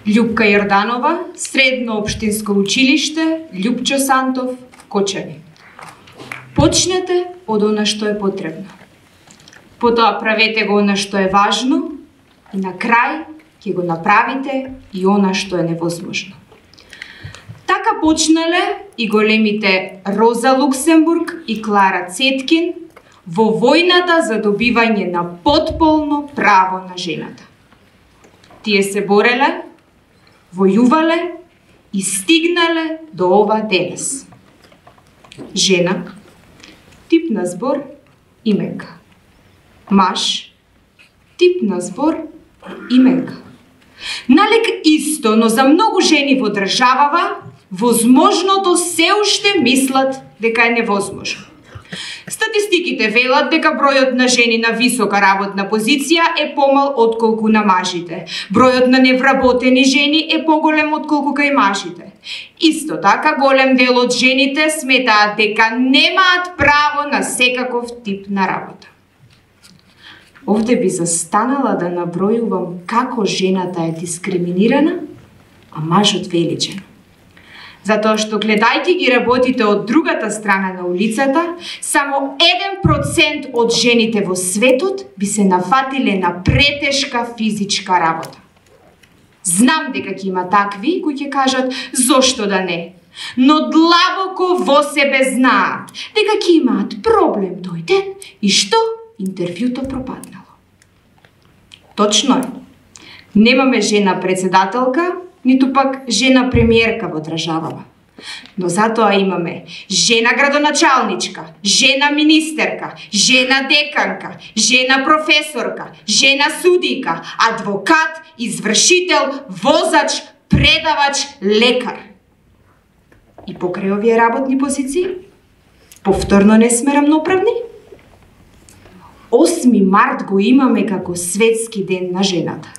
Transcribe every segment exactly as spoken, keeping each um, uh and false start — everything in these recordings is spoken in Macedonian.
Љупка Јорданова, Средно општинско училиште, Љупчо Сантов, Кочани. Почнете од она што е потребно. Потоа правете го она што е важно и на крај ќе го направите и она што е невозможно. Така почнале и големите Роза Луксембург и Клара Цеткин во војната за добивање на потполно право на жената. Тие се бореле, војувале и стигнале до ова денес. Жена, тип на збор, именка. Маж, тип на збор, именка. Налек исто, но за многу жени во државава, возможното се уште мислат дека е невозможно. Статистиките велат дека бројот на жени на висока работна позиција е помал отколку на мажите. Бројот на невработени жени е поголем отколку кај мажите. Исто така, голем дел од жените сметаат дека немаат право на секаков тип на работа. Овде би застанала да набројувам како жената е дискриминирана, а мажот величен. Затоа што гледајќи ги работите од другата страна на улицата, само еден процент од жените во светот би се нафатиле на претешка физичка работа. Знам дека ќе има такви кои ќе кажат зошто да не, но длабоко во себе знаат дека ќе имаат проблем тој ден и што интервјуто пропаднало. Точно е. Немаме жена председателка, ниту пак жена премиерка во државава. Но затоа имаме жена градоначалничка, жена министерка, жена деканка, жена професорка, жена судика, адвокат, извршител, возач, предавач, лекар. И покрај овие работни позиции, повторно не сме рамноправни? осми март го имаме како светски ден на жената.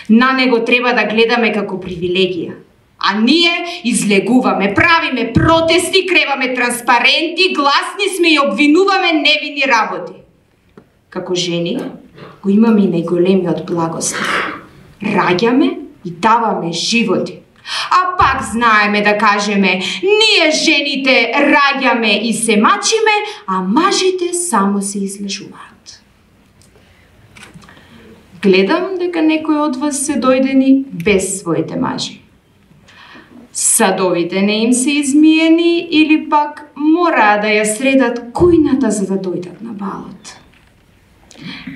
На него треба да гледаме како привилегија. А ние излегуваме, правиме протести, креваме транспаренти, гласни сме и обвинуваме невини работи. Како жени го имаме и најголемиот благослов. Раѓаме и даваме животи. А пак знаеме да кажеме, ние жените раѓаме и се мачиме, а мажите само се излежуваат. Гледам дека некои од вас се дојдени без своите мажи. Садовите не им се измиени или пак мораа да ја средат кујната за да дојдат на балот.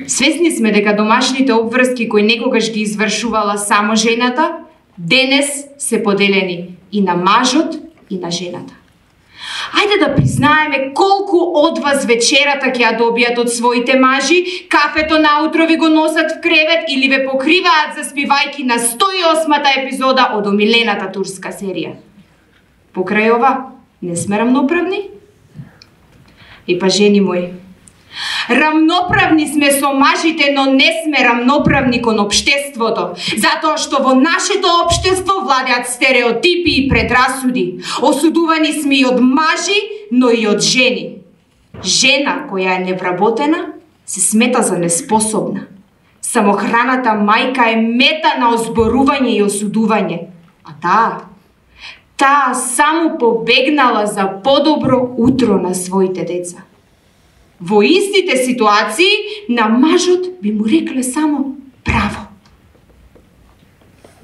Свесни сме дека домашните обврски кои некогаш ги извршувала само жената, денес се поделени и на мажот и на жената. Ајде да признаеме колку од вас вечерата ќе ја добијат од своите мажи, кафето наутро ви го носат в кревет или ве покриваат заспивајки на сто и осмата епизода од омилената турска серија. Покрај ова, не сме рамноправни? И па жени мои, рамноправни сме со мажите, но не сме рамноправни кон општеството, затоа што во нашето општество владеат стереотипи и предрасуди. Осудувани сме и од мажи, но и од жени. Жена која е невработена се смета за неспособна. Самохраната мајка е мета на озборување и осудување, а таа, таа само побегнала за подобро утро на своите деца. Во истите ситуации на мажот би му рекле само браво.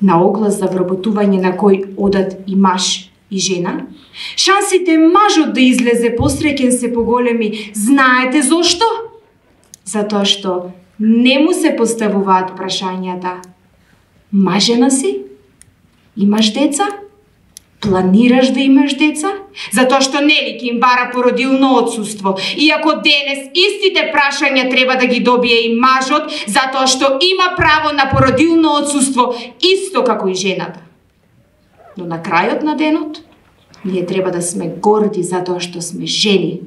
На оглас за вработување на кој одат и маж и жена, шансите мажот да излезе посреќен се поголеми. Знаете зошто? Затоа што не му се поставуваат прашањата: мажена си? Имаш деца? Планираш да имаш деца? Затоа што нели ќе им бара породилно отсуство. Иако денес истите прашања треба да ги добие и мажот, затоа што има право на породилно отсуство исто како и жената. Но на крајот на денот, Ние треба да сме горди затоа што сме жени.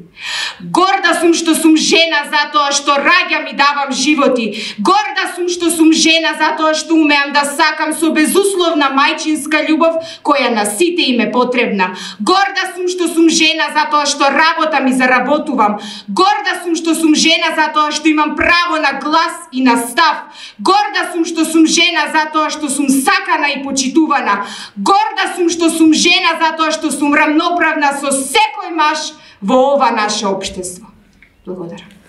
Горда сум што сум жена затоа што раѓам и давам животи. Горда сум што сум жена затоа што умеам да сакам со безусловна мајчинска љубов која на сите им е потребна. Горда сум што сум жена затоа што работам и заработувам. Горда сум што сум жена затоа што имам право на глас и на став. Горда сум што сум жена затоа што сум сакана и почитувана. Горда сум што сум жена затоа што сум рамноправна со секој маж во ова наше општество. Благодарам.